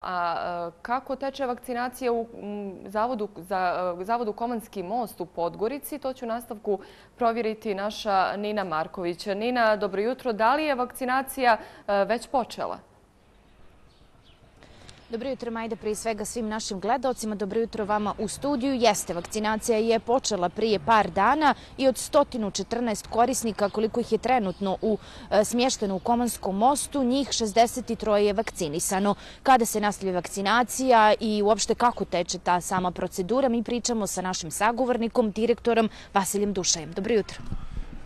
A kako teče vakcinacija u Zavodu Komanski most u Podgorici? To ću u nastavku provjeriti naša Nina Marković. Nina, dobro jutro. Da li je vakcinacija već počela? Dobro jutro, Majda, prije svega svim našim gledaocima. Dobro jutro vama u studiju. Jeste, vakcinacija je počela prije par dana i od 114 korisnika, koliko ih je trenutno smješteno u Komanskom mostu, njih 63 je vakcinisano. Kada se nastavlja vakcinacija i uopšte kako teče ta sama procedura, mi pričamo sa našim sagovornikom, direktorom Vasiljem Dušajem. Dobro jutro.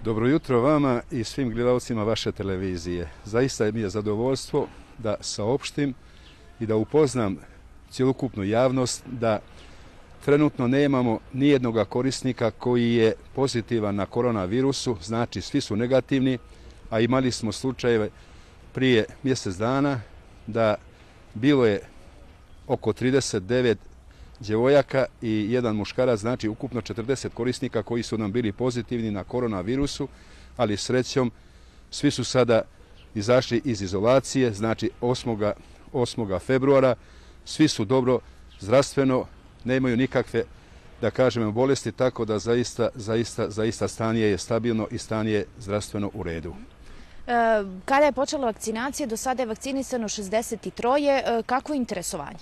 Dobro jutro vama i svim gledalcima vaše televizije. Zaista mi je zadovoljstvo da saopštim i da upoznam cjelokupnu javnost da trenutno nemamo nijednog korisnika koji je pozitivan na koronavirusu, znači svi su negativni, a imali smo slučajeve prije mjesec dana da bilo je oko 39 djevojaka i jedan muškarac, znači ukupno 40 korisnika koji su nam bili pozitivni na koronavirusu, ali srećom svi su sada izašli iz izolacije, znači 8. februara, svi su dobro zdravstveno, nemaju nikakve, da kažemo, bolesti, tako da zaista stanje je stabilno i stanje je zdravstveno u redu. Kada je počela vakcinacija, do sada je vakcinisano 63. Kako je interesovanje?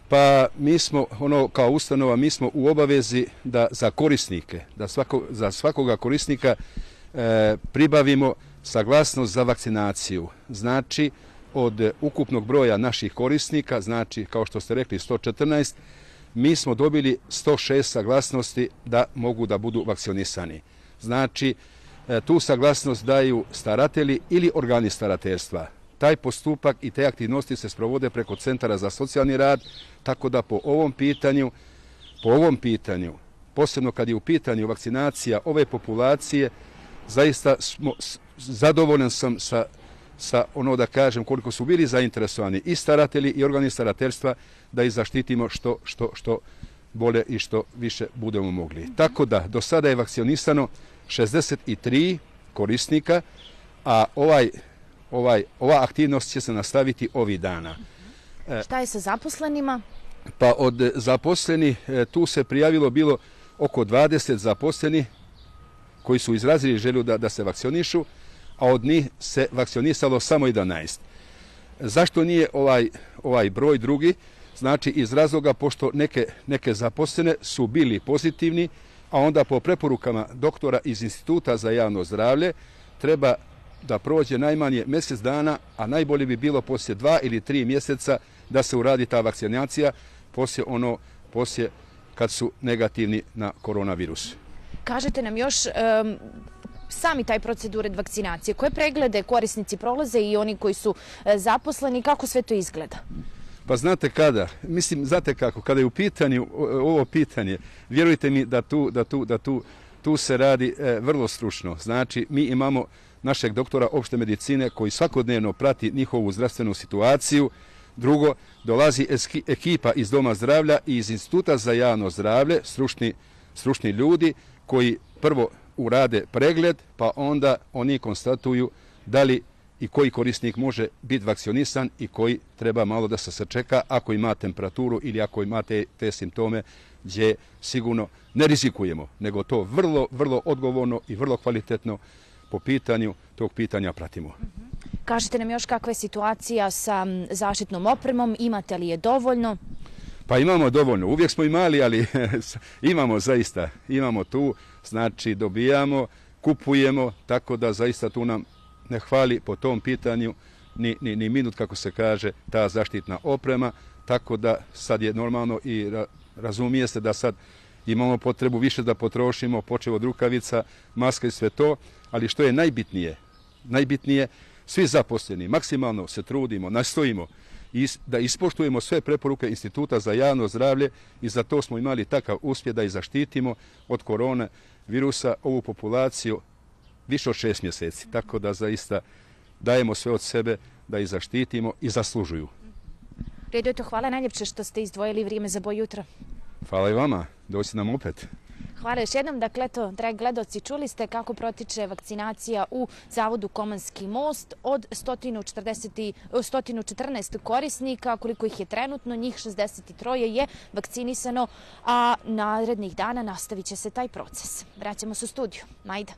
Pa mi smo, kao ustanova, mi smo u obavezi da za korisnike, za svakoga korisnika pribavimo saglasnost za vakcinaciju. Znači, od ukupnog broja naših korisnika, znači, kao što ste rekli, 114, mi smo dobili 106 saglasnosti da mogu da budu vakcinisani. Znači, tu saglasnost daju staratelji ili organi starateljstva. Taj postupak i te aktivnosti se sprovode preko Centara za socijalni rad, tako da po ovom pitanju, posebno kad je u pitanju vakcinacija ove populacije, zaista zadovoljan sam sa da kažem, koliko su bili zainteresovani i staratelji i organi starateljstva da ih zaštitimo što bolje i što više budemo mogli. Tako da, do sada je vakcinisano 63 korisnika, a ova aktivnost će se nastaviti ovih dana. Šta je sa zaposlenima? Pa od zaposlenih tu se prijavilo bilo oko 20 zaposlenih koji su izrazili želju da se vakcionišu, a od njih se vakcionisalo samo 11. Zašto nije ovaj broj drugi? Znači iz razloga pošto neke zaposlene su bili pozitivni, a onda po preporukama doktora iz Instituta za javno zdravlje treba da prođe najmanje mjesec dana, a najbolje bi bilo poslije 2 ili 3 mjeseca da se uradi ta vakcinacija poslije kad su negativni na koronavirus. Kažete nam još sami taj proceduret vakcinacije. Koje preglede korisnici prolaze i oni koji su zaposleni, kako sve to izgleda? Pa znate kada? Mislim, znate kako? Kada je u pitanju ovo pitanje, vjerujte mi da tu se radi vrlo stručno. Znači, mi imamo našeg doktora opšte medicine koji svakodnevno prati njihovu zdravstvenu situaciju. Drugo, dolazi ekipa iz Doma zdravlja i iz Instituta za javno zdravlje, stručni ljudi koji prvo urade pregled, pa onda oni konstatuju da li i koji korisnik može biti vakcionisan i koji treba malo da se sačeka ako ima temperaturu ili ako imate te simptome gdje sigurno ne rizikujemo, nego to vrlo odgovorno i vrlo kvalitetno po pitanju tog pitanja pratimo. Kažete nam još kakva je situacija sa zaštitnom opremom, imate li je dovoljno? Pa imamo dovoljno, uvijek smo imali, ali imamo zaista, imamo tu, znači dobijamo, kupujemo, tako da zaista tu nam ne hvali po tom pitanju ni minut, kako se kaže, ta zaštitna oprema, tako da sad je normalno i razumije se da sad imamo potrebu više da potrošimo, počev od rukavica, maska i sve to, ali što je najbitnije, svi zaposleni maksimalno se trudimo, nastojimo da ispoštujemo sve preporuke Instituta za javno zdravlje i za to smo imali takav uspjeh da i zaštitimo od korona virusa ovu populaciju više od 6 mjeseci. Tako da zaista dajemo sve od sebe da ih zaštitimo i zaslužuju. Redo, hvala najljepše što ste izdvojili vrijeme za Boj jutra. Hvala i vama, doći nam opet. Hvala još jednom. Dakle, eto, dragi gledaoci, čuli ste kako protiče vakcinacija u Zavodu Komanski most. Od 114 korisnika, koliko ih je trenutno, njih 63 je vakcinisano, a narednih dana nastavit će se taj proces. Vraćamo se u studiju. Majda.